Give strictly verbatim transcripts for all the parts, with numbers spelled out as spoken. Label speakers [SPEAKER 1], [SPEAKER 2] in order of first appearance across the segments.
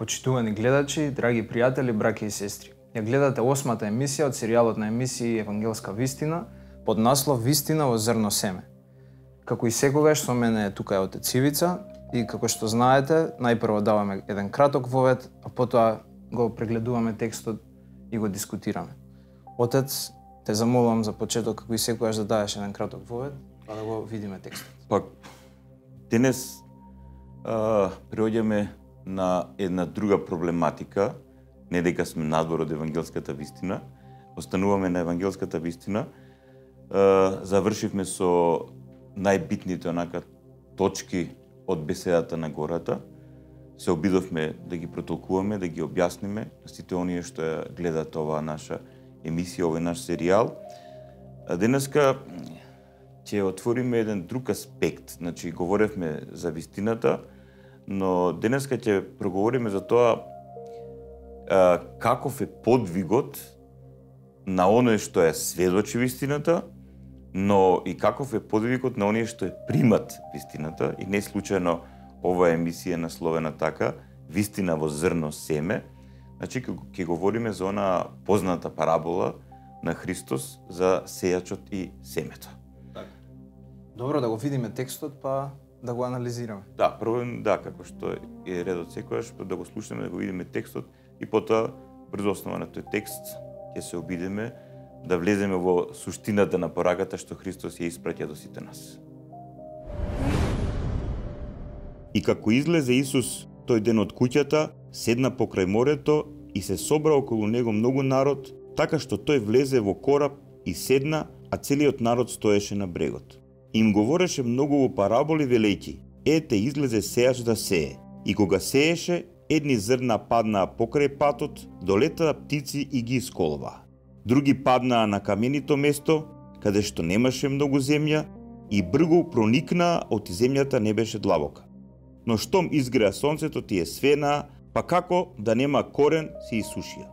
[SPEAKER 1] Почитувани гледачи, драги пријатели, браќа и сестри. Ја гледате осмата емисија од серијалот на емисии Евангелска вистина под наслов Вистина во зрно семе. Како и секогаш со мене тука е отец Ивица и како што знаете, најпрво даваме еден краток вовед, а потоа го прегледуваме текстот и го дискутираме. Отец, те замолувам за почеток како и секогаш да дадеш еден краток вовед, па да го видиме текстот.
[SPEAKER 2] Пак денес а, преоѓаме на една друга проблематика, не дека сме надвор од евангелската вистина, остануваме на евангелската вистина. Е, завршивме со најбитните онака точки од беседата на гората. Се обидовме да ги протолкуваме, да ги објасниме на сите оние што ја гледат оваа наша емисија, овој наш серијал. А денеска ќе отвориме еден друг аспект. Значи, говоревме за вистината, но денеска ќе проговориме за тоа а, каков е подвигот на оној што ја сведочи вистината, но и каков е подвигот на оние што ја примат вистината. И не случајно оваа емисија е насловена така, Вистина во зрно семе. Значи, ќе говориме за она позната парабола на Христос за сејачот и семето.
[SPEAKER 1] Така. Добро, да го видиме текстот, па да го анализираме.
[SPEAKER 2] Да, прво, да, како што е редот секојаш, да го слушнеме, да го видиме текстот и потоа, врз основа на тој текст, ќе се обидеме да влеземе во суштината на пораката што Христос ја испраќа до сите нас. И како излезе Исус тој ден од куќата, седна покрај морето и се собра околу него многу народ, така што тој влезе во кораб и седна, а целиот народ стоеше на брегот. Им говореше многу во параболи велејќи: ете, излезе сејач да сее. И кога сееше, едни зрна паднаа покрај патот, долетаа птици и ги исколваа. Други паднаа на каменито место, каде што немаше многу земја, и бргу проникнаа, оти земјата не беше длабока. Но штом изгреа сонцето, тие свенаа, па како да нема корен, се исушија.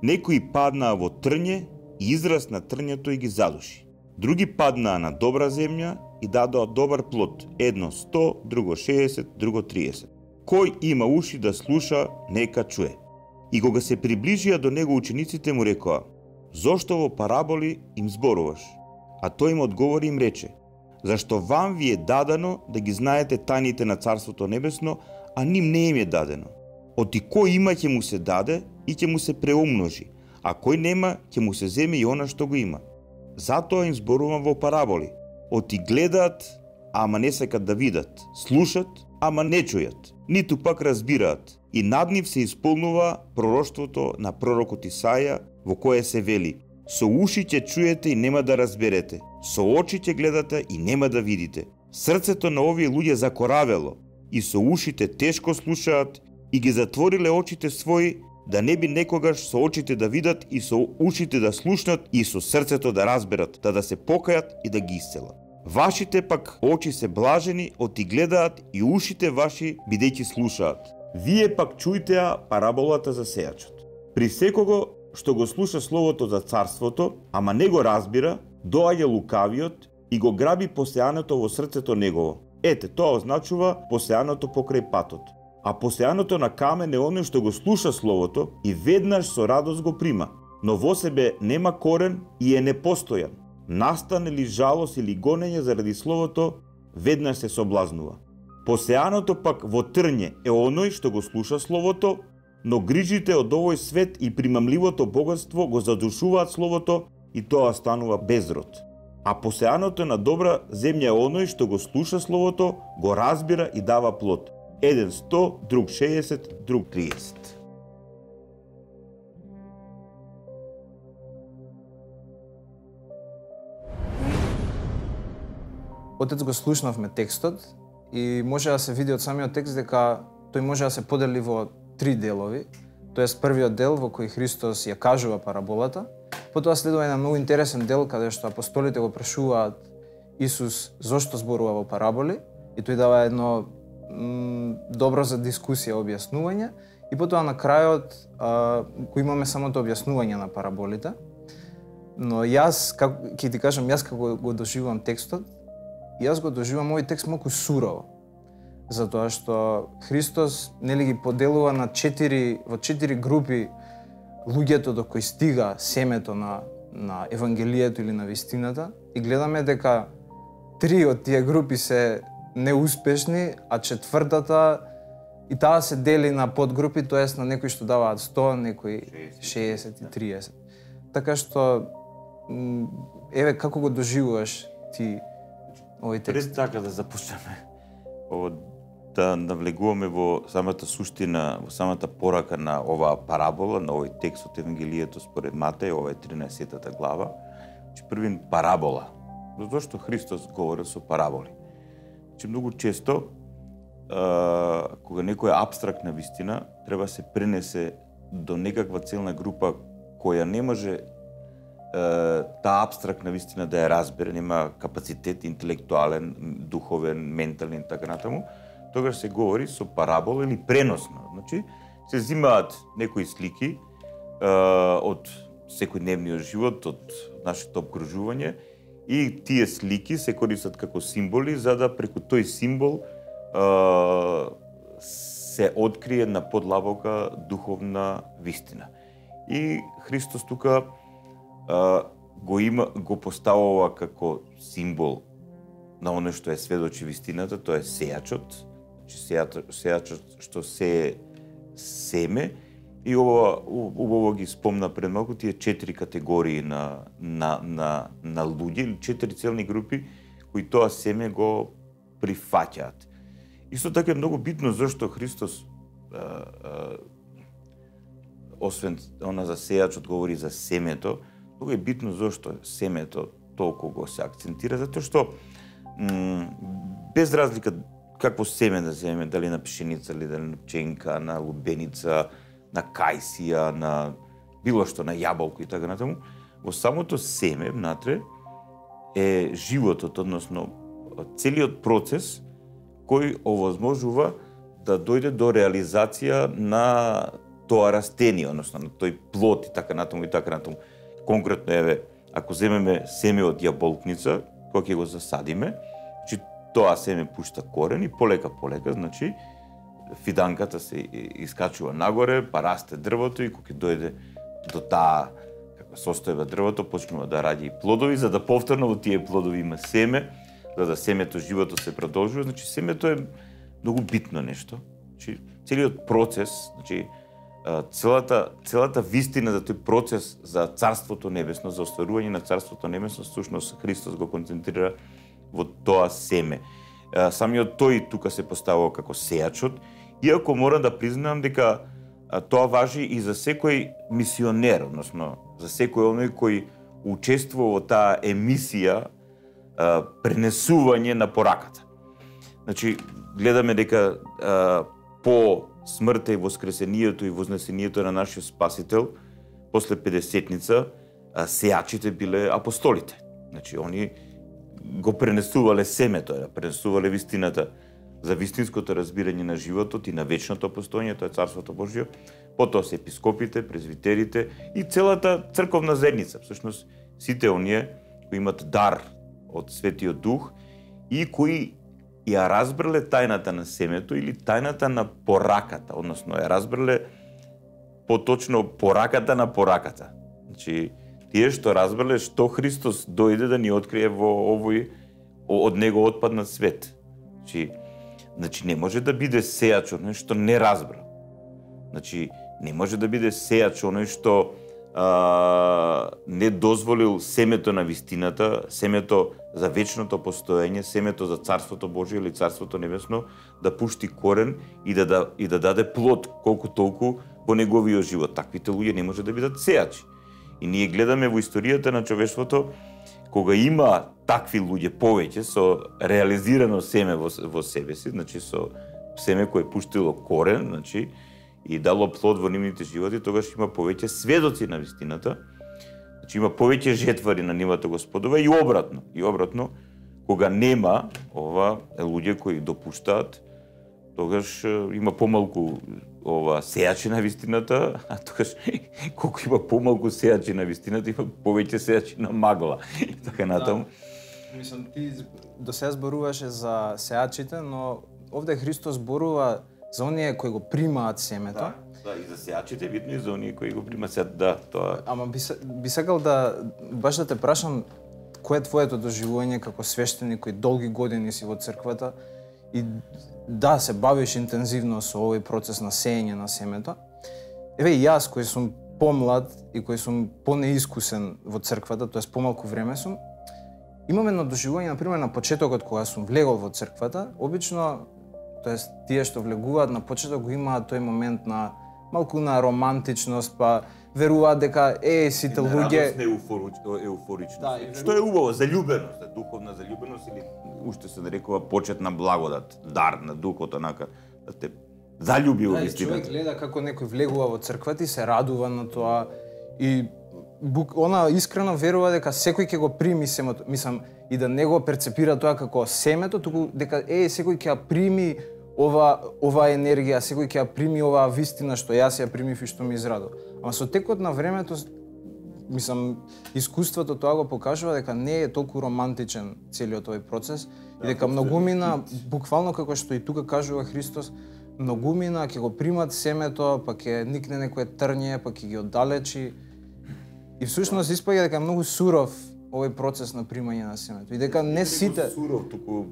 [SPEAKER 2] Некои паднаа во трње и израс на трњето и ги задуши. Други паднаа на добра земја и дадоа добар плод, едно сто, друго шеесет, друго триесет. Кој има уши да слуша, нека чуе. И кога се приближија до него учениците му рекоа: зошто во параболи им зборуваш? А тој им одговори им рече: зашто вам ви е дадено да ги знаете тајните на Царството Небесно, а ним не им е дадено. Оти кој има ќе му се даде и ќе му се преумножи, а кој нема ќе му се земе и она што го има. Затоа им зборувам во параболи. Оти гледаат, ама не сакат да видат, слушат, ама не чујат, ниту пак разбираат. И над нив се исполнува пророштвото на пророкот Исаја, во кое се вели: со уши ќе чуете и нема да разберете, со очи ќе гледате и нема да видите. Срцето на овие луѓе закоравело и со ушите тешко слушаат и ги затвориле очите своји, да не би некогаш со очите да видат и со ушите да слушнат и со срцето да разберат, да да се покајат и да ги исцелат. Вашите пак очи се блажени, оти гледаат, и ушите ваши бидејќи слушаат. Вие пак чујте параболата за сејачот. При секого што го слуша словото за царството, ама не го разбира, доаѓа лукавиот и го граби посеаното во срцето негово. Ете, тоа означува посеаното покрај патот. А посеаното на камен е оној што го слуша словото и веднаш со радост го прима, но во себе нема корен и е непостојан. Настане ли жалост или гонење заради словото, веднаш се соблазнува. Посеаното пак во трње е оној што го слуша словото, но грижите од овој свет и примамливото богатство го задушуваат словото и тоа станува безрод. А посеаното на добра земја е оној што го слуша словото, го разбира и дава плод. Еден сто, друг шеесет, друг триесет.
[SPEAKER 1] Отец, го слушнавме текстот и може да се види од самиот текст дека тој може да се подели во три делови. Тоест, првиот дел во кој Христос ја кажува параболата, потоа следува еден многу интересен дел каде што апостолите го прашуваат Исус зошто зборува во параболи и тој дава едно м, добро за дискусија објаснување и потоа на крајот а, кој имаме самото објаснување на параболите. Но јас, како ќе ти кажам, јас како го доживувам текстот, јас го доживувам овој текст малку сурово. затоа што Христос нели ги поделува на четири во четири групи луѓето до кои стига семето на на евангелието или на вистината и гледаме дека три од тие групи се неуспешни, а четвртата и таа се дели на подгрупи, тоест на некои што даваат сто, некои шеесет и триесет. Така што еве како го доживуваш ти овој текст?
[SPEAKER 2] Пред така да започнеме ово да навлегуваме во самата суштина, во самата порака на оваа парабола, на овој текст од Евангелието според Матеј, ова е тринесеттата глава. Значи првин парабола. Затоа што Христос говорил со параболи. Значи многу често а, кога некоја абстрактна вистина треба се пренесе до некаква целна група која не може а, таа абстрактна вистина да ја разбере, нема капацитет интелектуален, духовен, ментален и така натаму, тогаш се говори со парабола или преносно. Значи, се взимаат некои слики а, од секојдневниот живот, од нашето обкружување и тие слики се користат како символи за да преку тој символ а, се открие на подлабока духовна вистина. И Христос тука а, го има го поставува како символ на оно што е сведочи вистината, тоа е сејачот, сејачот што се семе и ова убаво ги спомна пред малку тие четири категории на на на на луѓе или четири целни групи кои тоа семе го прифаќаат. Исто така е многу битно зашто Христос а, а, освен она за сејачот говори за семето, многу е битно зашто семето толку го се акцентира, затоа што м, без разлика какво семе да земеме, дали на пшеница, или дали на пченка, на лубеница, на кајсија, на било што, на јаболко и така натаму, во самото семе внатре е животот, односно целиот процес кој овозможува да дојде до реализација на тоа растение, односно на тој плод и така натаму и така натаму. Конкретно еве, ако земеме семе од јаболкница, кога ќе го засадиме, значи тоа семе пушта корен и полека полека, значи фиданката се искачува нагоре, па расте дрвото и кога ќе дојде до таа како состојба дрвото, почнува да ради и плодови, за да повторно во тие плодови има семе, за да семето животот се продолжува. Значи семето е многу битно нешто. Значи целиот процес, значи целата целата вистина за тој процес за Царството небесно, за остварување на Царството небесно, всушност Христос го концентрира во тоа семе. Самиот тој тука се поставува како сејачот, иако мора да признам дека тоа важи и за секој мисионер, односно за секој оној кој учествува во таа емисија пренесување на пораката. Значи, гледаме дека а, по смртта и воскресението и вознесението на нашиот Спасител, после педесетница, а, сејачите биле апостолите. Значи, они го пренесувале семето, пренесувале вистината за вистинското разбирање на животот и на вечното постоење, тоа е Царството Божјо, потоа се епископите, презвитерите и целата црковна заедница. Всушност, сите оние кои имат дар од Светиот Дух и кои ја разбрале тајната на семето или тајната на пораката, односно ја разбрале поточно пораката на пораката. Значи, тие што разбрале што Христос дојде да ни открие во овој од него отпаднат свет. Значи, значи не може да биде сејач оној што не разбра. Значи, не може да биде сејач оној што а, не дозволил семето на вистината, семето за вечното постоење, семето за Царството Божие или Царството Небесно да пушти корен и да, да, и да даде плод колку толку во неговиот живот. Таквите луѓе не може да бидат сејачи. И ние гледаме во историјата на човештвото, кога има такви луѓе повеќе со реализирано семе во, во себе си, значи со семе кое пуштило корен, значи и дало плод во нивните животи, тогаш има повеќе сведоци на вистината, значи има повеќе жетвари на нивата Господова и обратно. И обратно, кога нема ова луѓе кои допуштаат, тогаш има помалку ова сејачи на вистината, а тогаш колку има помалку сејачи на вистината, има повеќе сејачи на магла. И така натаму.
[SPEAKER 1] Да. Мислам, ти до сега зборуваше за сејачите, но овде Христос зборува за оние кои го примаат семето.
[SPEAKER 2] Да, да, и за сејачите, видно и за оние кои го примаат сеат, да, тоа.
[SPEAKER 1] Ама би, би сакал да баш да те прашам кое е твоето доживување како свештеник кој долги години си во црквата и да се бавиш интензивно со овој процес на сеење на семето. Еве и јас кој сум помлад и кој сум понеискусен во црквата, тоест помалку време сум, имам едно доживување, например, на почетокот кога сум влегол во црквата, обично, тоест тие што влегуваат на почеток го имаат тој момент на малку на романтичност, па веруваат дека е сите луѓе
[SPEAKER 2] еуфорично. Да, што е убаво, заљубеност, духовна заљубеност или уште се нарекува почет на благодат, дар на духот, онака да те заљуби во вистината.
[SPEAKER 1] Човек гледа како некој влегува во црквата и се радува на тоа и она искрено верува дека секој ќе го прими семето, мислам и да не го перцепира тоа како семето, туку дека е секој ќе ја прими ова ова енергија, секој ќе ја прими оваа вистина што јас ја примив и што ми израдува. Ама со текот на времето, мислам, искуството тоа го покажува дека не е толку романтичен целиот овој процес да, и дека многумина, буквално како што и тука кажува Христос, многумина ќе го примат семето, па ќе никне некое трње, па ќе ги оддалечи. И всушност испаѓа дека е многу суров овој процес на примање на семето. И дека не сите
[SPEAKER 2] суров, туку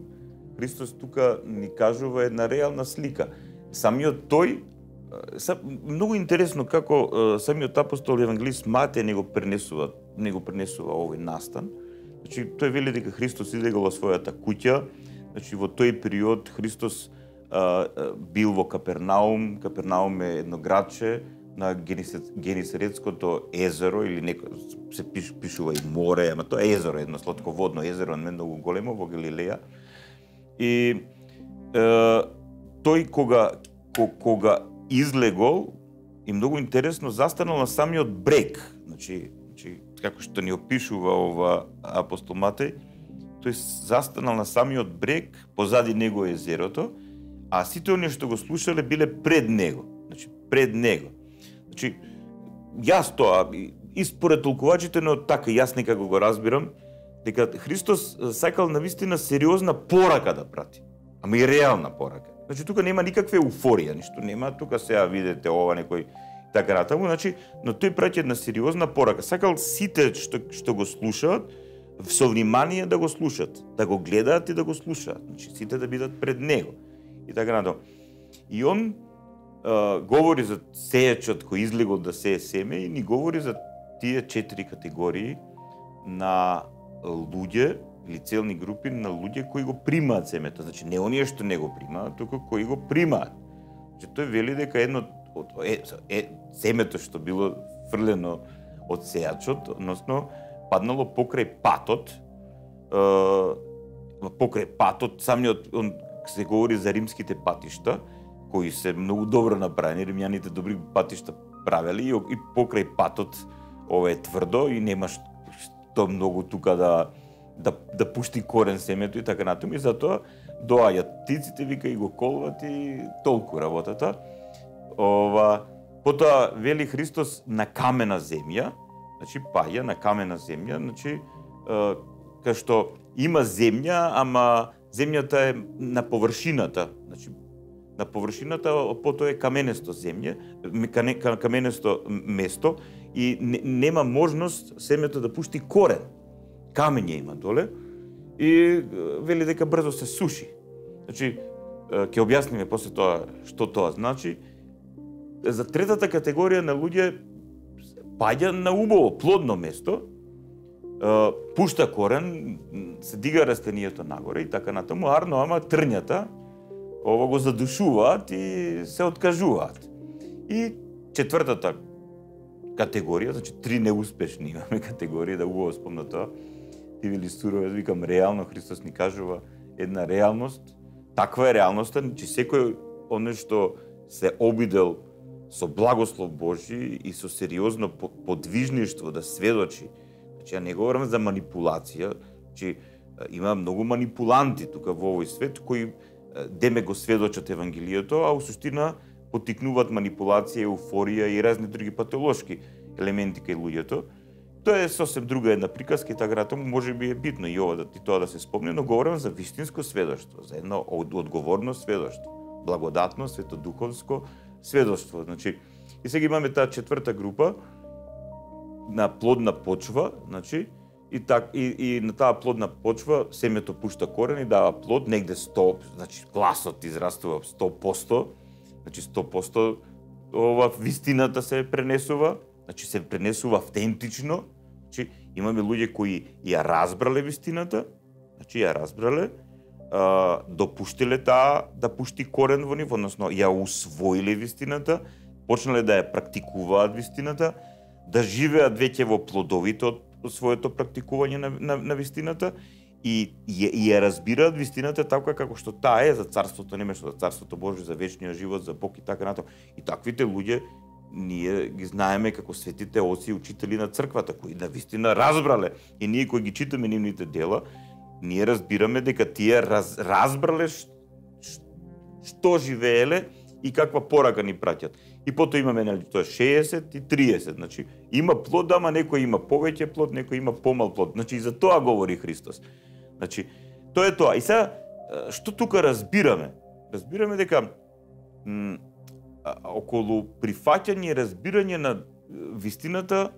[SPEAKER 2] Христос тука ни кажува една реална слика. Самиот тој, многу интересно како самиот апостол евангелист Матеј не го пренесува, не го пренесува овој настан. Значи тој вели дека Христос излегал во својата куќа, значи во тој период Христос а, бил во Капернаум. Капернаум е едно градче на Генисаретското езеро или неко се пиш, пишува и море, ама тоа е езеро, едно слатководно езеро, не многу големо во Галилеја. И е, тој кога, кога излегол и многу интересно застанал на самиот брег, значи, значи како што ни опишува ова апостол Матеј, тој застанал на самиот брег, позади него е езерото, а сите оние што го слушале биле пред него, значи пред него. Значи јас тоа и според толкувачите, но така јас некако го разбирам, дека Христос сакал навистина сериозна порака да прати, ама и реална порака. Значи тука нема никаква еуфорија, ништо нема, тука сега видите ова некој така натаму, значи, но тој праќа една сериозна порака. Сакал сите што што го слушаат со внимание да го слушаат, да го гледаат и да го слушаат. Значи сите да бидат пред него. И така натаму. И он а, говори за сејачот кој излегол да сее семе и ни говори за тие четири категории на луѓе или целни групи на луѓе кои го примаат семето. Значи не оние што не го примаат, туку кои го примаат. Значи тој вели дека едно од е, е семето што било фрлено од сејачот, односно паднало покрај патот, е, покрај патот, самиот он се говори за римските патишта, кои се многу добро направени, римјаните добри патишта правели и, и покрај патот ова е тврдо и немаш што многу тука да да да пушти корен семето и така натаму, и затоа доаѓаат птиците, вика, и го колват и толку работата. Ова, потоа вели Христос на камена земја, значи паѓа на камена земја, значи кај што има земја, ама земјата е на површината, значи на површината, потоа е каменесто земја, каменесто место и не, нема можност семето да пушти корен. Камење има доле и вели дека брзо се суши. Значи, ќе објасниме после тоа што тоа значи. За третата категорија на луѓе паѓа на убаво, плодно место, пушта корен, се дига растенијето нагоре и така натаму, арно, ама трњата ова го задушуваат и се откажуваат. И четвртата категорија, значи три неуспешни имаме категории, да убаво спомна тоа, ти вели сурово, викам реално, Христос ни кажува една реалност, таква е реалноста, че секој оно што се обидел со благослов Божи и со сериозно подвижништво да сведочи. Значи, ја не говорам за манипулација, че има многу манипуланти тука во овој свет кои деме го сведочат Евангелието, а у суштина потикнуваат манипулација, еуфорија и разни други патолошки елементи кај луѓето. Тоа е сосем друга една приказка и така натаму, може би е битно и ова да и тоа да се спомне, но говорам за вистинско сведоштво, за едно одговорно сведоштво, благодатно, светодуховско сведоштво. Значи, и сега имаме таа четврта група на плодна почва, значи, и так и, и на таа плодна почва семето пушта корен и дава плод, негде сто, значи гласот израстува сто проценти, значи сто проценти ова вистината се пренесува, значи се пренесува автентично. Значи имаме луѓе кои ја разбрале вистината, значи ја разбрале, а, допуштиле таа да пушти корен во нив, односно ја усвоиле вистината, почнале да ја практикуваат вистината, да живеат веќе во плодовите од своето практикување на, на, на вистината и, и, и ја разбираат вистината така како што таа е за Царството Небесно, за Царството Божие, за вечниот живот, за Бог и така натаму. И таквите луѓе ние ги знаеме како светите оци и учители на црквата, кои на вистина разбрале. И ние кои ги читаме нивните дела, ние разбираме дека тие раз, разбрале ш, ш, што живееле и каква порака ни праќат. И потоа имаме, нели, тоа шеесет и триесет, значи има плод, ама некој има повеќе плод, некој има помал плод. Значи и за тоа говори Христос. Значи тоа е тоа. И сега што тука разбираме? Разбираме дека м, околу прифаќање и разбирање на вистината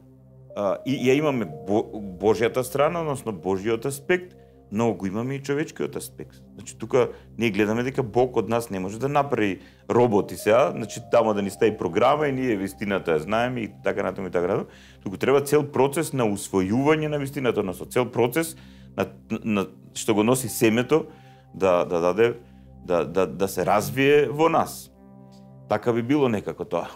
[SPEAKER 2] а, и ја имаме Бо, Божјата страна, односно Божјиот аспект, но го имаме и човечкиот аспект. Значи тука ние гледаме дека Бог од нас не може да направи роботи сега, значи тамо да ни стави програма и ние вистината ја знаеме и така натаму и така натаму. Туку треба цел процес на усвојување на вистината, односно цел процес на, на што го носи семето да да даде да да да се развие во нас. Така би било некако тоа.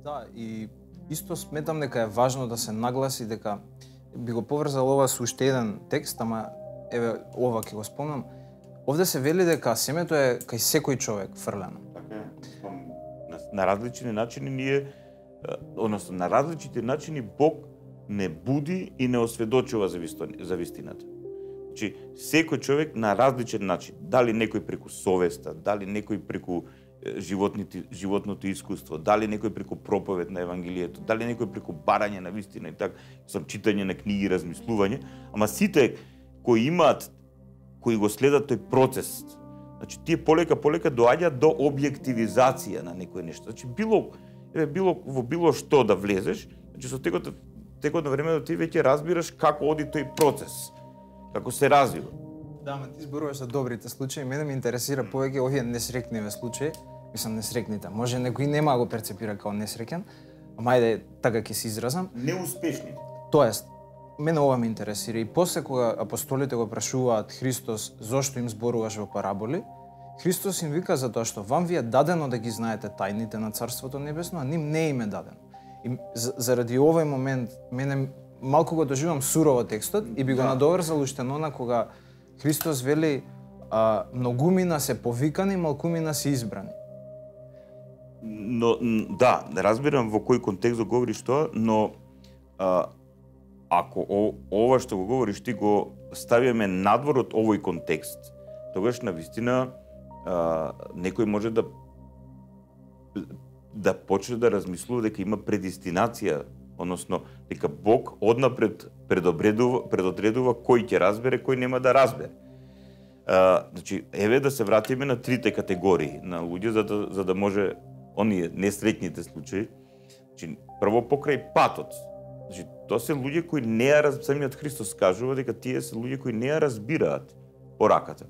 [SPEAKER 1] Да, и исто сметам дека е важно да се нагласи дека би го поврзал ова со уште еден текст, ама еве ова ќе го спомнам. Овде се вели дека семето е кај секој човек фрлено.
[SPEAKER 2] Така е. На, на различни начини ние, односно на различните начини Бог не буди и не осведочува за, висто, за вистината. Значи, секој човек на различен начин, дали некој преку совеста, дали некој преку животните, животното искуство, дали некој преку проповед на Евангелието, дали некој преку барање на вистина и така, сам читање на книги, размислување, ама сите кои имаат, кои го следат тој процес, значи тие полека полека доаѓаат до објективизација на некој нешто. Значи било еве било во било што да влезеш, значи со текот текот на времето ти веќе разбираш како оди тој процес, како се развива.
[SPEAKER 1] Да, ама ти зборуваш за добрите случаи, мене ме интересира повеќе овие несреќниви случаи, мислам несреќните. Може некој нема да го перцепира како несреќен, ама ајде така ќе се изразам.
[SPEAKER 2] Неуспешни.
[SPEAKER 1] Тоест, мене ова ме интересира и после кога апостолите го прашуваат Христос зошто им зборуваш во параболи, Христос им вика за тоа што вам ви е дадено да ги знаете тајните на Царството Небесно, а ним не им е дадено. И заради овој момент мене малку го доживам сурово текстот и би го
[SPEAKER 2] да.
[SPEAKER 1] надоврзал уште на кога Христос вели а, многумина се повикани, малкумина се избрани.
[SPEAKER 2] Но да, разбирам во кој контекст го говориш тоа, но а, ако о, ова што го говориш ти го ставиме надвор од овој контекст, тогаш на вистина а, некој може да да почне да размислува дека има предестинација, односно дека Бог однапред предобредува, предодредува кој ќе разбере, кој нема да разбере. А, значи, еве да се вратиме на трите категории на луѓе за да за да може оние несреќните случаи. Значи, прво покрај патот. Значи, тоа се луѓе кои не ја раз... самиот Христос кажува дека тие се луѓе кои не ја разбираат пораката.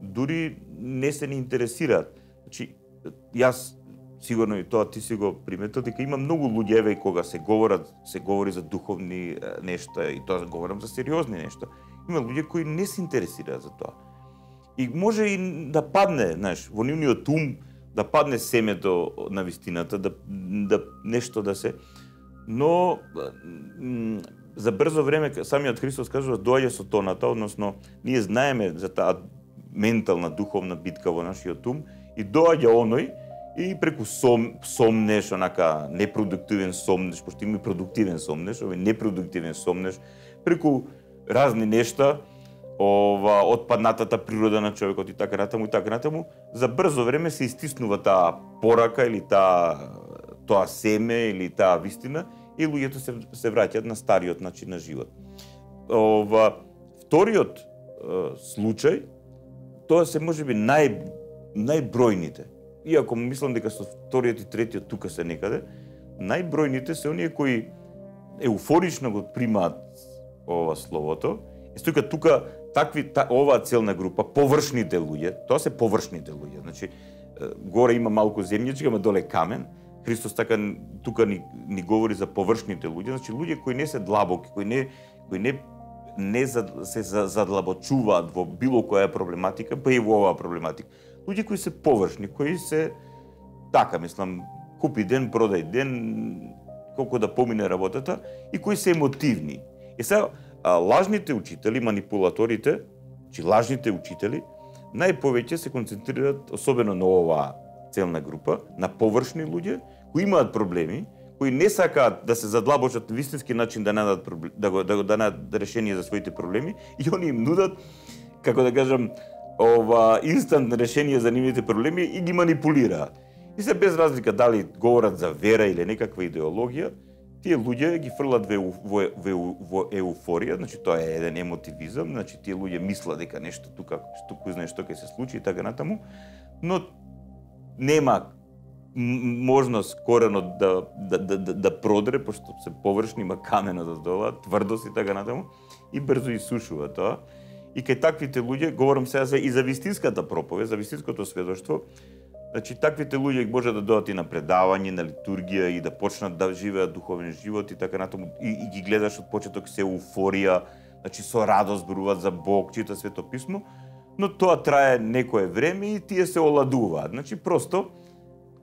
[SPEAKER 2] Дури не се ни интересираат. Значи, јас сигурно и тоа ти си го приметил дека има многу луѓе еве кога се говорат, се говори за духовни нешта и тоа говорам за сериозни нешта. Има луѓе кои не се интересираат за тоа. И може и да падне, знаеш, во нивниот ум да падне семето на вистината, да, да нешто да се, но за брзо време самиот Христос кажува доаѓа со тоната, односно ние знаеме за таа ментална духовна битка во нашиот ум и доаѓа оној и преку сом, сомнеш, онака непродуктивен сомнеш, пошто има продуктивен сомнеш, овој непродуктивен сомнеш, преку разни нешта, ова отпаднатата природа на човекот и така натаму и така натаму, за брзо време се истиснува таа порака или таа тоа семе или таа вистина и луѓето се се враќаат на стариот начин на живот. Ова вториот е, случај, тоа се можеби нај најбројните. Иако мислам дека со вториот и третиот тука се некаде, најбројните се оние кои еуфорично го примаат ова словото. И тука тука такви та, оваа целна група површните луѓе, тоа се површните луѓе. Значи горе има малку земјичка, ама доле камен. Христос така тука ни, ни говори за површните луѓе, значи луѓе кои не се длабоки, кои не кои не не за, се задлабочуваат во било која проблематика, па и во оваа проблематика. Луѓе кои се површни, кои се така, мислам, купи ден, продај ден, колку да помине работата, и кои се емотивни. И сега, лажните учители, манипулаторите, чи лажните учители, најповеќе се концентрираат, особено на оваа целна група, на површни луѓе, кои имаат проблеми, кои не сакаат да се задлабочат на вистински начин да најдат да го да, да најдат решение за своите проблеми, и они им нудат, како да кажам, ова инстант решение за нивните проблеми и ги манипулираат. И се без разлика дали говорат за вера или некаква идеологија, тие луѓе ги фрлат во, во, во, во еуфорија, значи тоа е еден емотивизам, значи тие луѓе мислат дека нешто тука, што кој знае што ќе се случи и така натаму, но нема можност коренот да, да, да, да, да продре, пошто се површни, има камена да дола, тврдост и така натаму, и брзо исушува тоа. И кај таквите луѓе, говорам сега за и за вистинската проповед, за вистинското сведоштво, значи таквите луѓе може да додат и на предавање, на литургија и да почнат да живеат духовен живот и така натаму, и, и ги гледаш од почеток се еуфорија, значи со радост зборуваат за Бог, чита Свето писмо, но тоа трае некое време и тие се оладуваат. Значи просто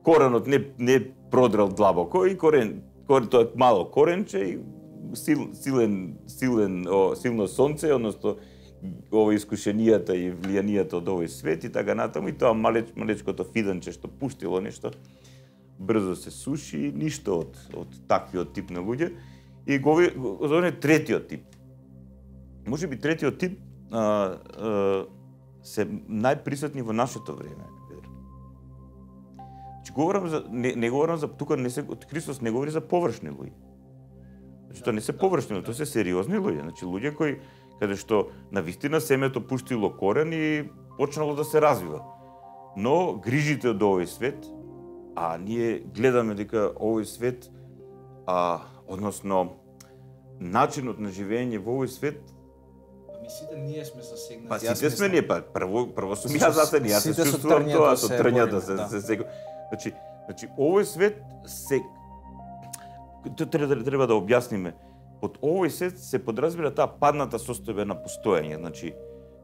[SPEAKER 2] коренот не не продрал длабоко и корен корен тоа е мало коренче и сил, силен силен о, силно сонце, односно ова искушенијата и влијанијата од овој свет и така натаму, и тоа малеч, малечкото фиданче што пуштило нешто брзо се суши и ништо од од таквиот тип на луѓе. И го зове третиот тип. Можеби третиот тип а, а, се најприсутни во нашето време. Значи говорам за не, не говорам за тука не се Христос не говори за површни луѓе. Значи тоа не се површни, тоа се сериозни луѓе, значи луѓе кои каде што навистина семето пуштило корен и почнало да се развива. Но грижите од овој свет, а ние гледаме дека овој свет, а, односно начинот на живење во овој свет,
[SPEAKER 1] Ами сите ние сме засегнати.
[SPEAKER 2] Па сите сме ние, па прво прво сум ја засегнат, јас се чувствувам тоа со трњата се се се. Значи, значи овој свет се треба треба да објасниме. Под овој свет се подразбира таа падната состојба на постоење, значи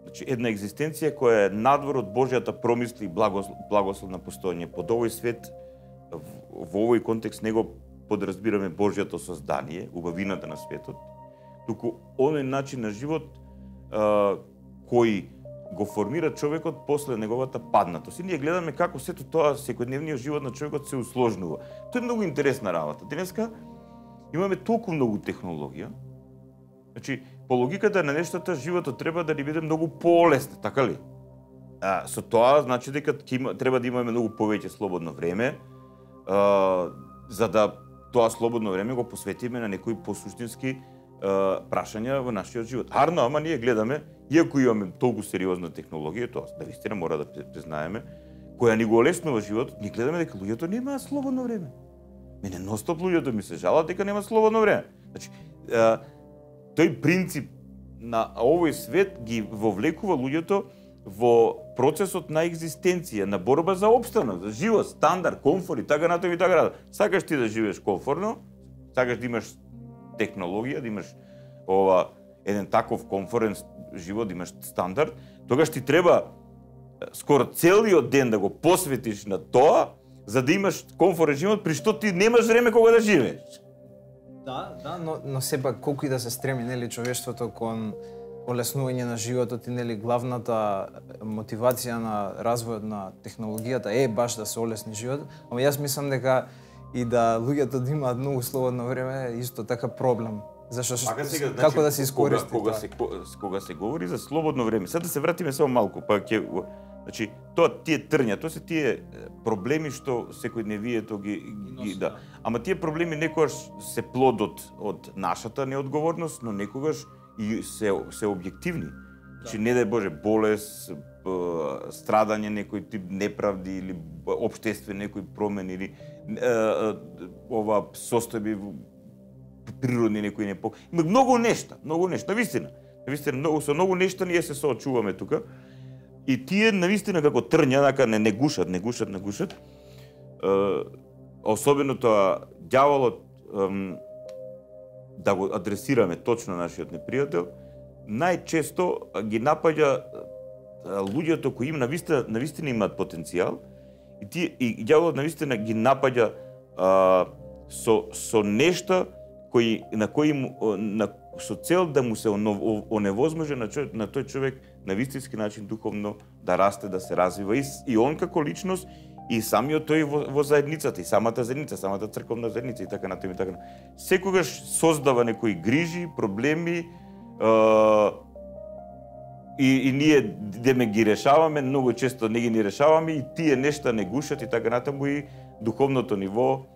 [SPEAKER 2] значи една екзистенција која е надвор од Божјата промисли и благослов, благослов на постоење. Под овој свет во овој контекст него подразбираме Божјото создание, убавината на светот, туку оној начин на живот а, кој го формира човекот после неговата паднатост. И ние гледаме како сето тоа секојдневниот живот на човекот се усложнува. Тоа е многу интересна работа. Денеска имаме толку многу технологија. Значи, по логиката на нештата, животот треба да ни биде многу полесен, така ли? А, со тоа значи дека има, треба да имаме многу повеќе слободно време, а, за да тоа слободно време го посветиме на некои посуштински а, прашања во нашиот живот. Арно, ама ние гледаме, иако имаме толку сериозна технологија, тоа да вистина мора да признаеме, која ни го олеснува животот, ние гледаме дека луѓето немаат слободно време. Мене ностоп луѓето ми се жалат дека нема слободно време. Значи, а, тој принцип на овој свет ги вовлекува луѓето во процесот на екзистенција, на борба за опстанок, за живот, стандард, комфор и така натаму и така натаму. Сакаш ти да живееш комфорно, сакаш да имаш технологија, да имаш ова еден таков комфорен живот, да имаш стандард, тогаш ти треба скоро целиот ден да го посветиш на тоа, за да имаш комфорен живот, при што ти немаш време кога да живееш.
[SPEAKER 1] Да, да, но, но сепак колку и да се стреми нели човештвото кон олеснување на животот и нели главната мотивација на развојот на технологијата е баш да се олесни животот, ама јас мислам дека и да луѓето да имаат многу слободно време е исто така проблем. Зашто
[SPEAKER 2] сега, значи,
[SPEAKER 1] како да се искористи
[SPEAKER 2] кога, кога се кога се говори за слободно време. Сега да се вратиме само малку, па ќе Значи, тоа тие трња, тоа се тие проблеми што секојдневието ги, ги да. Ама тие проблеми некогаш се плодот од нашата неодговорност, но некогаш и се се објективни. Значи, не дај Боже, болест, страдање, некој тип неправди или општествени некои промени или ова состојби природни некои непок. Има многу нешта, многу нешта, навистина. Навистина, многу со многу нешта ние се соочуваме тука. И тие навистина како трња, така не не гушат, не гушат, не гушат. Е, особено тоа ѓаволот, да го адресираме точно нашиот непријател, најчесто ги напаѓа луѓето кои им навистина, навистина имаат потенцијал и тие и ѓаволот навистина ги напаѓа а, со со нешта кои на кои на со цел да му се оневозможи на, на тој човек на вистински начин духовно да расте, да се развива и, и он како личност и самиот тој во, во заедницата, и самата заедница, самата црковна заедница и така натаму и така. Секогаш создава некои грижи, проблеми е, и, и ние деме ги решаваме, многу често не ги ни решаваме и тие нешта не гушат и така натаму и духовното ниво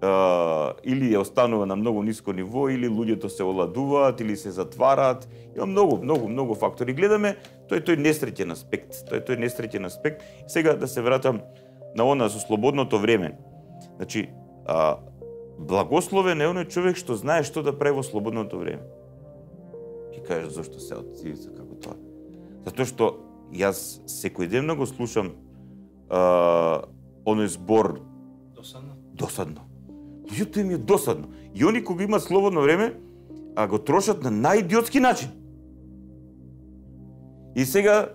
[SPEAKER 2] Uh, или е останува на многу ниско ниво, или луѓето се оладуваат, или се затвараат. Има многу, многу, многу фактори. Гледаме тој тој несреќен аспект, тој тој несреќен аспект. Сега да се вратам на она со слободното време. Значи, а, благословен е оној човек што знае што да прави во слободното време. Ќе кажеш зошто се од цивица како тоа? Затоа што јас секој ден го слушам а, оној збор
[SPEAKER 1] досадно.
[SPEAKER 2] Досадно. Луѓето им е досадно. И они кога имаат слободно време, а го трошат на најидиотски начин. И сега,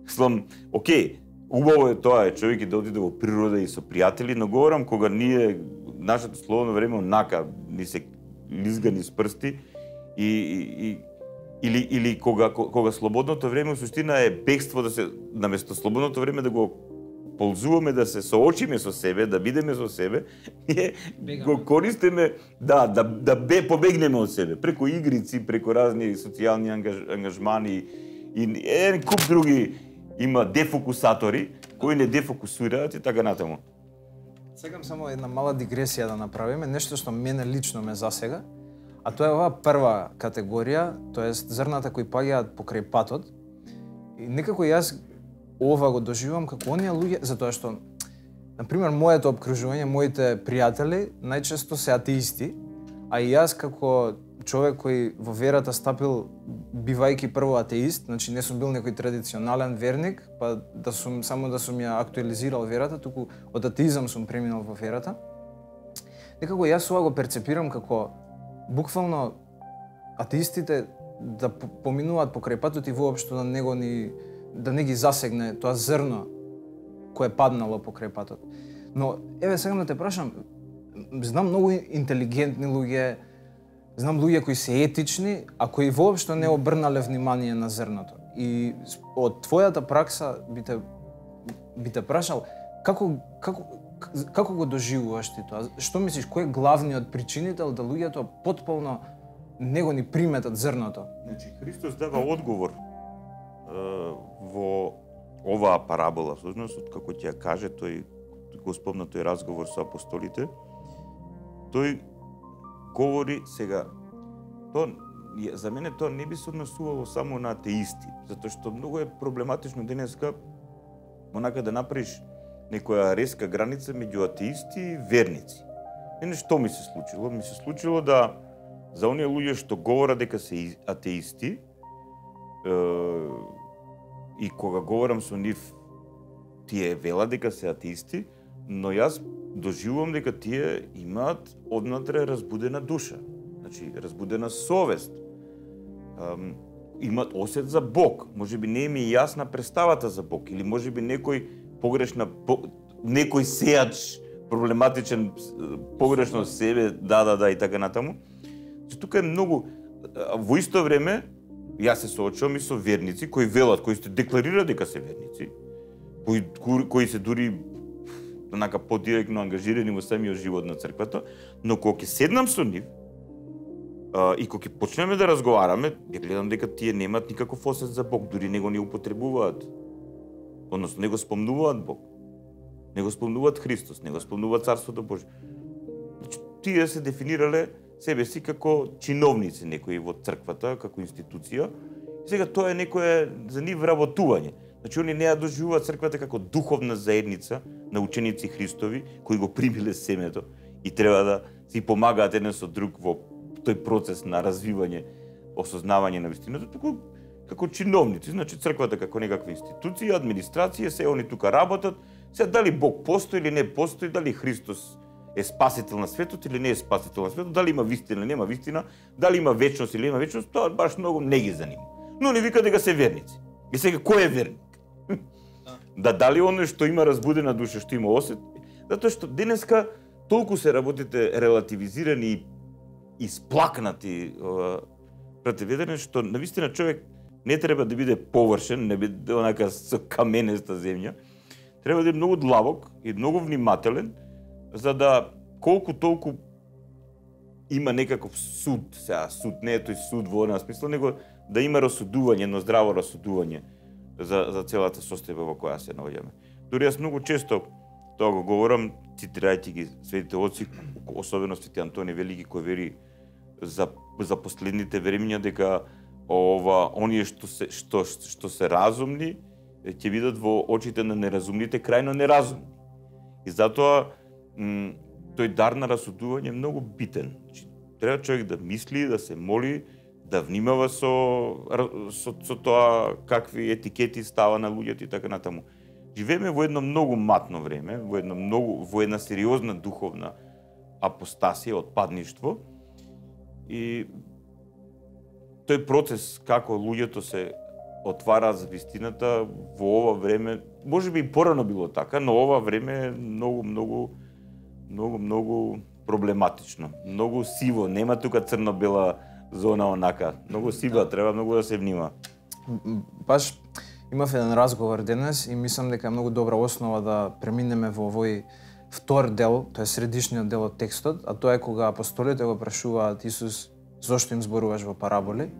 [SPEAKER 2] слам, окей, убаво е тоа е човек и да отиде во природа и со пријатели, но говорам кога ние, нашето слободно време онака, ни се лизга низ прсти, и, и, и или, или кога, кога слободното време, в суштина е бегство да се, наместо слободното време да го ползуваме да се соочиме со себе, да бидеме со себе, ние го користиме да да да бе побегнеме од себе преку игрици, преку разни социјални ангаж, ангажмани и еден куп други има дефокусатори кои не дефокусираат и така натаму.
[SPEAKER 1] Сакам само една мала дигресија да направиме, нешто што мене лично ме засега, а тоа е оваа прва категорија, тоест зрната кои паѓаат покрај патот. И некако јас ова го доживувам како оние луѓе, затоа што, например, моето обкружување, моите пријатели најчесто се атеисти, а и јас како човек кој во верата стапил бивајќи прво атеист, значи не сум бил некој традиционален верник, па да сум само да сум ја актуализирал верата, туку од атеизам сум преминал во верата. Некако јас ова го перцепирам како буквално атеистите да поминуваат покрај патот и воопшто да него ни да не ги засегне тоа зрно кое паднало покрај патот. Но еве сега да те прашам, знам многу интелигентни луѓе, знам луѓе кои се етични, а кои воопшто не обрнале внимание на зрното. И од твојата пракса би те би те прашал како како како го доживуваш ти тоа? Што мислиш, кој е главниот причинител да луѓето потполно него ни приметат зрното?
[SPEAKER 2] Значи Христос дава одговор во оваа парабола, всушност, како ќе ја каже, тој го спомна тој разговор со апостолите, тој говори сега, тоа, за мене тоа не би се однесувало само на атеисти, затоа што многу е проблематично денеска онака да направиш некоја резка граница меѓу атеисти и верници. Мене што ми се случило? Ми се случило да за оние луѓе што говорат дека се атеисти, и кога говорам со нив, тие велат дека се атеисти, но јас доживувам дека тие имаат однатре разбудена душа, значи разбудена совест, um, имаат осет за Бог, можеби не им е јасна представата за Бог, или можеби некој погрешна, по, некој сеач проблематичен, погрешно себе, да, да, да, и така натаму. Тука е многу, во исто време, јас се соочувам и со верници кои велат, кои се декларираат дека се верници, кои, кои се дури онака подиректно ангажирани во самиот живот на црквата, но кога ќе седнам со нив а, и кога ќе почнеме да разговараме, ја гледам дека тие немаат никаков осет за Бог, дури него не употребуваат Односно, не го спомнуваат Бог. Не го спомнуваат Христос, не го спомнуваат Царството Божие. Значи, тие се дефинирале себе си како чиновници некои во црквата, како институција. И сега тоа е некое за нив работување. Значи, они не ја доживуваат црквата како духовна заедница на ученици Христови, кои го примиле семето и треба да си помагаат еден со друг во тој процес на развивање, осознавање на вистината, туку како чиновници. Значи, црквата како некаква институција, администрација, се они тука работат. Се дали Бог постои или не постои, дали Христос е спасител на светот или не е спасител на светот, дали има вистина или нема вистина, дали има вечност или нема вечност, тоа баш многу не ги занима. Но не вика дека се верници. И сега кој е верник? Да дали оној што има разбудена душа, што има осет? Затоа што денеска толку се работите релативизирани и сплакнати противедени, што навистина човек не треба да биде површен, не биде онака со каменеста земја. Треба да е многу длабок и многу внимателен, за да колку толку има некаков суд, сега суд не е тој суд во оној смисла, него да има расудување, едно здраво расудување за за целата состојба во која се наоѓаме. Дури јас многу често тоа го говорам, цитирајќи ги светите отци, особено свети Антони Велики, кој вери за за последните времиња дека ова оние што се што што се разумни ќе бидат во очите на неразумните крајно неразумни. И затоа м, тој дар на расудување е многу битен. Значи, треба човек да мисли, да се моли, да внимава со, со, со тоа какви етикети става на луѓето и така натаму. Живееме во едно многу матно време, во едно многу во една сериозна духовна апостасија, отпадништво. И тој процес како луѓето се отвараат за вистината во ова време, можеби и порано било така, но ова време е многу многу многу многу проблематично, многу сиво, нема тука црно-бела зона онака, многу сива, да. Треба многу да се внима.
[SPEAKER 1] Баш имав еден разговор денес и мислам дека е многу добра основа да преминеме во овој втор дел, тоа е средишниот дел од текстот, а тоа е кога апостолите го прашуваат Исус зошто им зборуваш во параболи.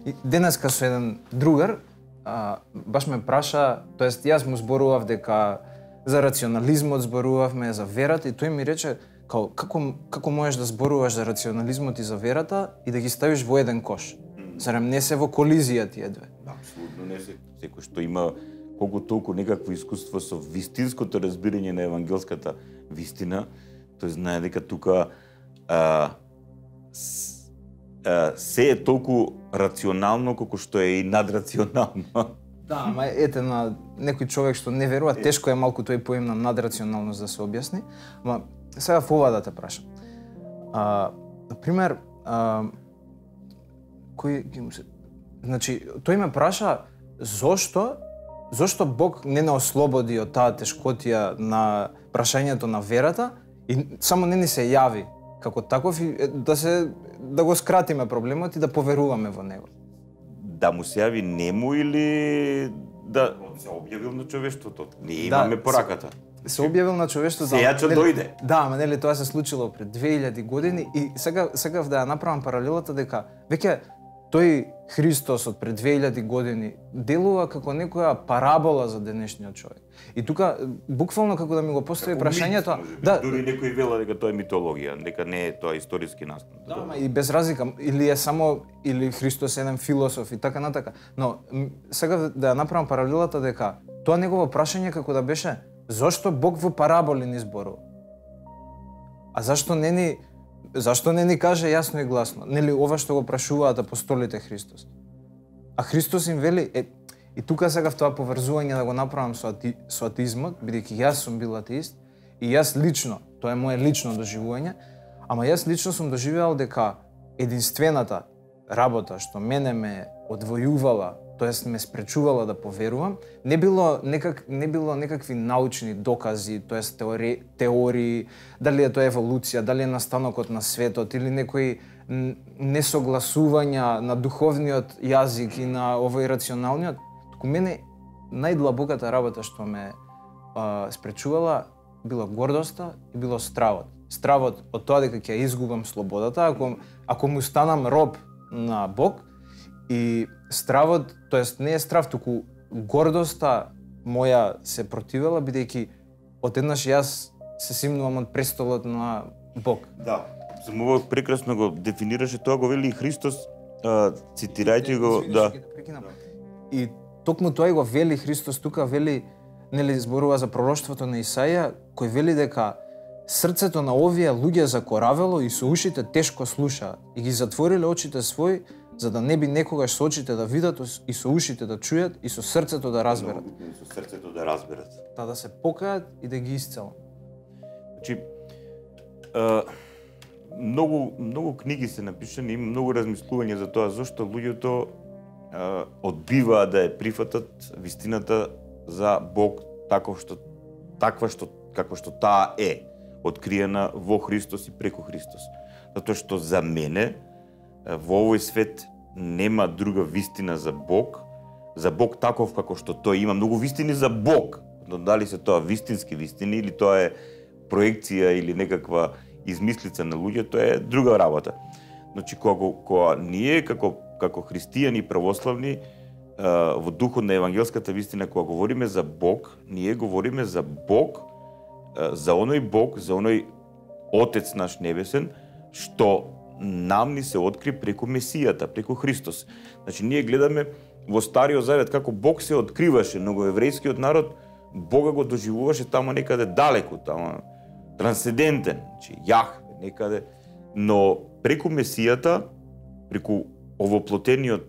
[SPEAKER 1] И денеска со еден другар а, баш ме праша, тоест јас му зборував дека за рационализмот зборувавме, за верата и тој ми рече како како како можеш да зборуваш за рационализмот и за верата и да ги ставиш во еден кош. Зарем не се во колизија тие две?
[SPEAKER 2] Апсолутно не се. Секој што има колку толку некакво искуство со вистинското разбирање на евангелската вистина, тој знае дека тука а, с, а, се е толку рационално колку што е и надрационално.
[SPEAKER 1] Да, ама ете на некој човек што не верува, тешко е малку тој поим на надрационалност да се објасни. Ама сега ова да те прашам. А, на пример, а, кој ги му се... Значи, тој ме праша зошто зошто Бог не не ослободи од таа тешкотија на прашањето на верата и само не ни се јави како таков и да се да го скратиме проблемот и да поверуваме во него.
[SPEAKER 2] Да му се јави нему или да се објавил на човештвото. Не имаме да, пораката.
[SPEAKER 1] Се, се објавил на човештвото.
[SPEAKER 2] Сеја ќе дојде.
[SPEAKER 1] Да, ама нели тоа се случило пред две илјади години и сега сега да ја направам паралелата дека веќе тој Христос од пред две илјади години делува како некоја парабола за денешниот човек. И тука буквално како да ми го постави како прашањето,
[SPEAKER 2] мит, да, дури некој вела дека тоа е митологија, дека не е тоа историски настан.
[SPEAKER 1] Да, ама и без разлика, или е само или Христос е еден философ и така натака. Но сега да ја направам паралелата дека тоа негово прашање како да беше зошто Бог во параболи ни зборува? А зашто не ни Зашто не ни каже јасно и гласно? Нели ова што го прашуваат апостолите Христос? А Христос им вели, е, и тука сега в тоа поврзување да го направам со, ати, со атеизмот, бидејќи јас сум бил атеист, и јас лично, тоа е моje лично доживување, ама јас лично сум доживеал дека единствената работа што мене ме одвојувала, тоест ме спречувала да поверувам, не било некак не било некакви научни докази, тоест теории, теории, дали е тоа еволуција, дали е настанокот на светот или некои несогласувања на духовниот јазик и на овој рационалниот, туку мене најдлабоката работа што ме а, спречувала била гордоста и било стравот. Стравот од тоа дека ќе изгубам слободата ако ако му станам роб на Бог. И стравот, тоест не е страв, туку гордоста моја се противела, бидејќи одеднаш јас се симнувам од престолот на Бог.
[SPEAKER 2] Да, само прекрасно го дефинираше тоа, го вели и Христос, а, цитирајќи го, да.
[SPEAKER 1] И токму тоа и го вели Христос тука, вели, нели зборува за пророштвото на Исаија, кој вели дека срцето на овие луѓе закоравело и со ушите тешко слушаат и ги затвориле очите своји, за да не би некогаш со очите да видат и со ушите да чујат и со срцето да разберат.
[SPEAKER 2] Со срцето да разберат.
[SPEAKER 1] Та да се покајат и да ги исцелат.
[SPEAKER 2] Значи, а, многу многу книги се напишани, има многу размислување за тоа зошто луѓето а, одбиваат да ја прифатат вистината за Бог таков што таква што како што таа е, откриена во Христос и преку Христос. Затоа што за мене во овој свет нема друга вистина за Бог, за Бог таков како што тој има многу вистини за Бог, но дали се тоа вистински вистини или тоа е проекција или некаква измислица на луѓе, тоа е друга работа. Значи кога, кога ние како како христијани православни во духот на евангелската вистина, кога говориме за Бог, ние говориме за Бог, за оној Бог, за оној Отец наш небесен, што нам ни се откри преку Месијата, преку Христос. Значи ние гледаме во Стариот Завет како Бог се откриваше, но го еврејскиот народ Бога го доживуваше тамо некаде далеку, тамо трансцендентен, значи Јахве некаде, но преку Месијата, преку овоплотениот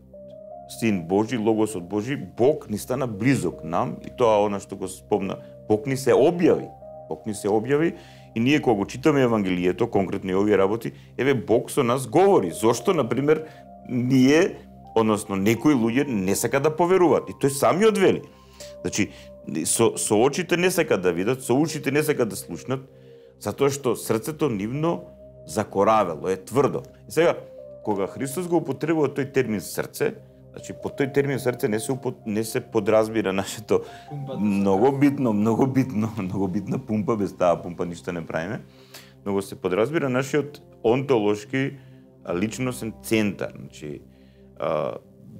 [SPEAKER 2] Син Божи, Логосот Божи, Бог ни стана близок нам и тоа она што го спомна, Бог ни се објави. Бог ни се објави и ние кога го читаме Евангелието, конкретно и овие работи, еве Бог со нас говори. Зошто, например, ние, односно некои луѓе не сакаат да поверуваат и тој самиот вели. Значи, со, со очите не сакаат да видат, со ушите не сакаат да слушнат, затоа што срцето нивно закоравело, е тврдо. И сега, кога Христос го употребува тој термин срце, значи по тој термин срце не се упот... не се подразбира нашето многу битно, многу битно, многу битна пумпа, без таа пумпа ништо не правиме. Многу се подразбира нашиот онтолошки личносен центар, значи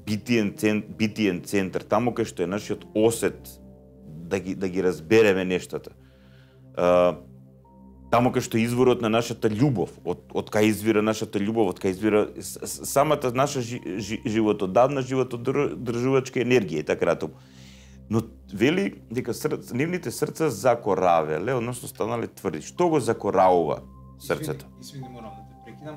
[SPEAKER 2] битиен центар, битиен центар, таму кај што е нашиот осет да ги да ги разбереме нештата. Таму кај што е изворот на нашата љубов, од од кај извира нашата љубов, од кај извира самата наша жи, жи, животодавна животодржувачка енергија и така натаму. Но вели дека срц, нивните срца закоравеле, односно станале тврди. Што го закоравува срцето?
[SPEAKER 1] Извини, морам да те прекинам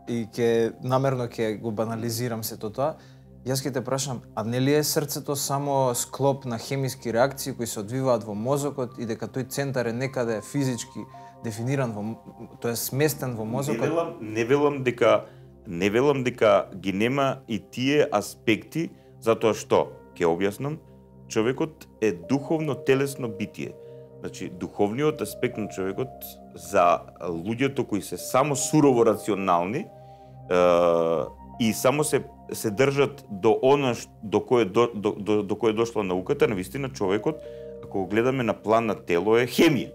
[SPEAKER 1] и ќе намерно ќе го банализирам сето тоа. Јас ќе те прашам, а нели е срцето само склоп на хемиски реакции кои се одвиваат во мозокот и дека тој центар е некаде физички дефиниран во, тоа е сместен во мозокот?
[SPEAKER 2] Не велам, не велам дека не велам дека ги нема и тие аспекти, затоа што ќе објаснам, човекот е духовно телесно битие. Значи духовниот аспект на човекот за луѓето кои се само сурово рационални е, и само се се држат до она до кое до, до, до, до кое дошла науката, навистина човекот, ако го гледаме на план на тело, е хемија.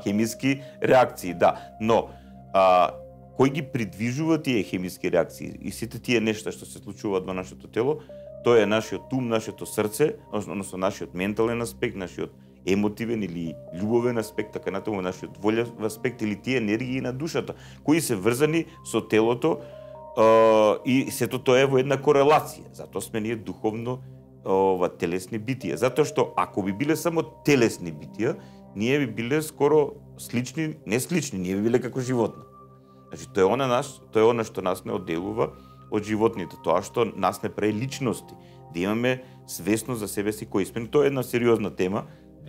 [SPEAKER 2] Хемиски реакции, да. Но а, кој ги придвижува тие хемиски реакции и сите тие нешта што се случуваат во нашето тело, тоа е нашиот ум, нашето срце, односно нашиот ментален аспект, нашиот емотивен или љубовен аспект, така натаму нашиот волев аспект или тие енергии на душата, кои се врзани со телото uh, и сето тоа е во една корелација. Затоа сме ние духовно ова телесни битија. Затоа што ако би биле само телесни битија, ние би биле скоро слични, не слични, ние би биле како животно. Значи тоа е она наш, тоа е она што нас не одделува од животните, тоа што нас не прави личности, да имаме свесност за себе си кои сме. Тоа е една сериозна тема.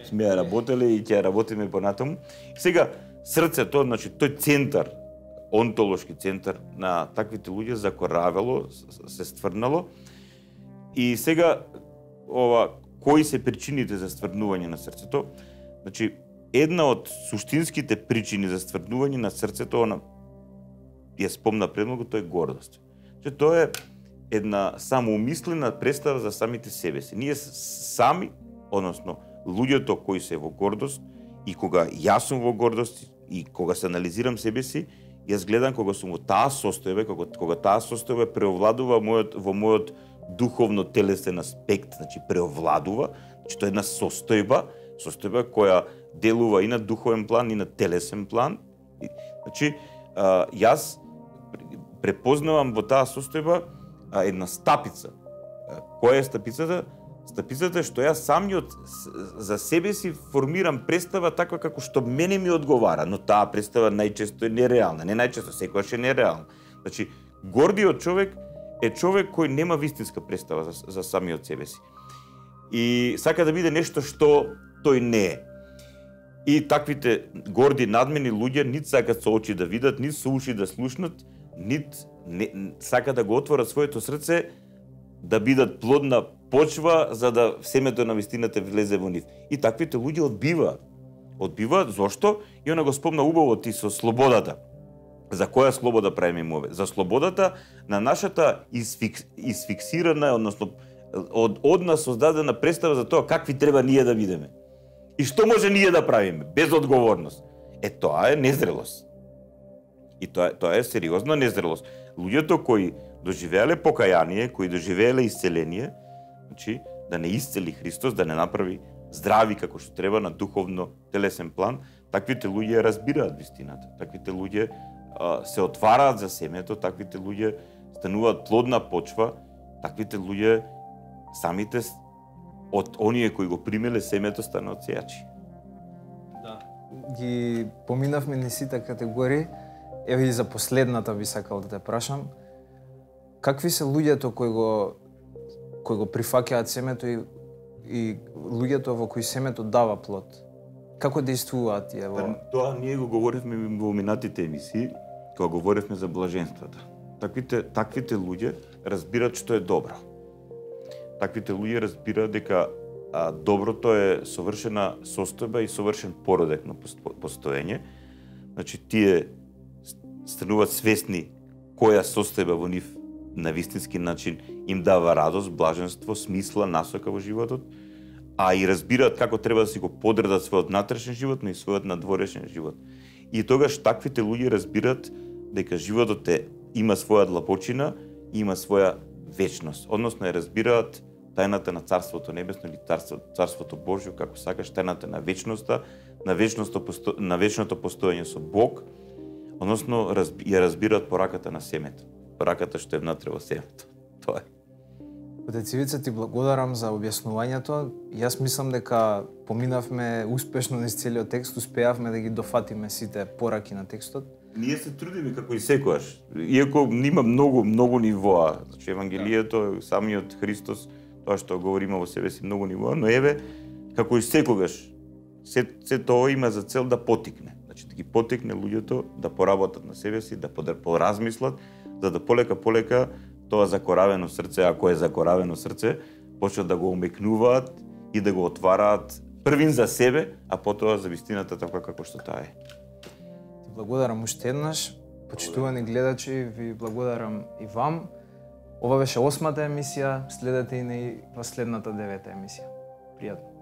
[SPEAKER 2] Сме ја работеле и ќе ја работиме понатаму. Сега срцето, значи тој центар, онтолошки центар на таквите луѓе закоравело, се стврнало. И сега ова кои се причините за стврнување на срцето? Значи една од суштинските причини за стврнување на срцето, она ја спомна премногу, тоа е гордост. Значи тоа е една самоумислена представа за самите себе си. Ние сами, односно луѓето кои се во гордост, и кога јас сум во гордост и кога се анализирам себе си, јас гледам кога сум во таа состојба, кога, кога таа состојба преовладува мојот, во мојот духовно-телесен аспект, значи преовладува, значи тоа е една состојба, состојба која делува и на духовен план и на телесен план. Значи, а, јас препознавам во таа состојба а, една стапица. А, која е стапицата? Стапицата е што јас самиот за себе си формирам представа таква како што мене ми одговара, но таа представа најчесто е нереална. Не најчесто, секогаш е нереална. Значи, гордиот човек е човек кој нема вистинска представа за, за самиот себе си. И сака да биде нешто што тој не е. И таквите горди, надмени луѓе нит сакат со очи да видат, нит со уши да слушнат, нит не, сака да го отворат своето срце да бидат плодна почва за да семето на вистината влезе во нив. И таквите луѓе одбиваат. Одбиваат зошто? И она го спомна убаво ти со слободата. За која слобода правиме мове? За слободата на нашата изфикс, изфиксирана, односно од, од нас создадена представа за тоа какви треба ние да бидеме. И што може ние да правиме без одговорност? Е, тоа е незрелост. И тоа, тоа е сериозна незрелост. Луѓето кои доживеале покаяние, кои доживеале исцеление, значи да не исцели Христос, да не направи здрави како што треба на духовно телесен план, таквите луѓе разбираат вистината. Таквите луѓе а, се отвараат за семето, таквите луѓе стануваат плодна почва, таквите луѓе самите од оние кои го примеле семето станаат сејачи.
[SPEAKER 1] Да. Ги поминавме низ сите категории. Еве и за последната би сакал да те прашам. Какви се луѓето кои го кои го прифаќаат семето и и луѓето во кои семето дава плод? Како действуваат тие во?
[SPEAKER 2] Тоа ние го говоревме во минатите емисии, кога говоревме за блаженствата. Таквите таквите луѓе разбираат што е добро. Таквите луѓе разбираат дека а, доброто е совршена состојба и совршен породек на постоење. Значи тие стануваат свесни која состојба во нив на вистински начин им дава радост, блаженство, смисла, насока во животот, а и разбираат како треба да си го подредат својот натрешен живот, но и својот надворешен живот. И тогаш таквите луѓе разбираат дека животот е, има своја длабочина и има своја вечност. Односно, ја разбираат тајната на Царството Небесно или Царство, Царството Божјо, како сакаш, тајната на вечноста, на вечното, посто... на вечното постоење со Бог, односно ја разбираат пораката на семето. Пораката што е внатре во семето. Тоа е.
[SPEAKER 1] Отец Ивица, ти благодарам за објаснувањето. Јас мислам дека поминавме успешно низ целиот текст, успеавме да ги дофатиме сите пораки на текстот.
[SPEAKER 2] Ние се трудиме како и секогаш. Иако има многу, многу нивоа. Значи, Евангелието, самиот Христос, тоа што говори има во себе си многу нивоа, но еве, како и секогаш, се, се тоа има за цел да потикне. Значи, да ги потикне луѓето да поработат на себе си, да поразмислат, за да полека полека тоа закоравено срце, ако е закоравено срце, почнат да го умекнуваат и да го отвараат првин за себе, а потоа за вистината така како што таа е.
[SPEAKER 1] Благодарам уште еднаш, почитувани гледачи, ви благодарам и вам. Ова беше осмата емисија, следете и на следната девета емисија. Пријатно.